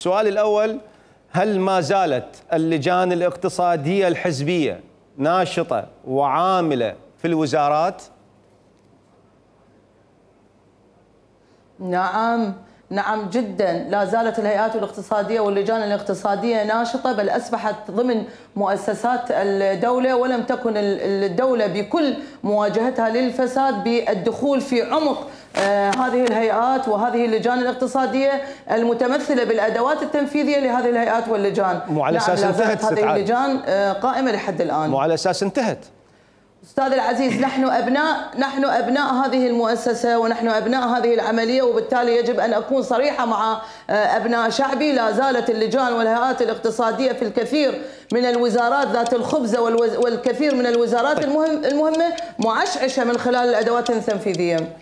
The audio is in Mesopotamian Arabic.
السؤال الأول: هل ما زالت اللجان الاقتصادية الحزبية ناشطة وعاملة في الوزارات؟ نعم جدا، لا زالت الهيئات الاقتصادية واللجان الاقتصادية ناشطة، بل أصبحت ضمن مؤسسات الدولة، ولم تكن الدولة بكل مواجهتها للفساد بالدخول في عمق هذه الهيئات وهذه اللجان الاقتصادية المتمثلة بالأدوات التنفيذية لهذه الهيئات واللجان. مو على أساس انتهت هذه اللجان قائمة لحد الآن. مو على أساس انتهت. أستاذ العزيز، نحن أبناء هذه المؤسسة ونحن أبناء هذه العملية، وبالتالي يجب أن أكون صريحة مع أبناء شعبي. لا زالت اللجان والهيئات الاقتصادية في الكثير من الوزارات ذات الخبزة والكثير من الوزارات المهمة معشعشة من خلال الأدوات التنفيذية.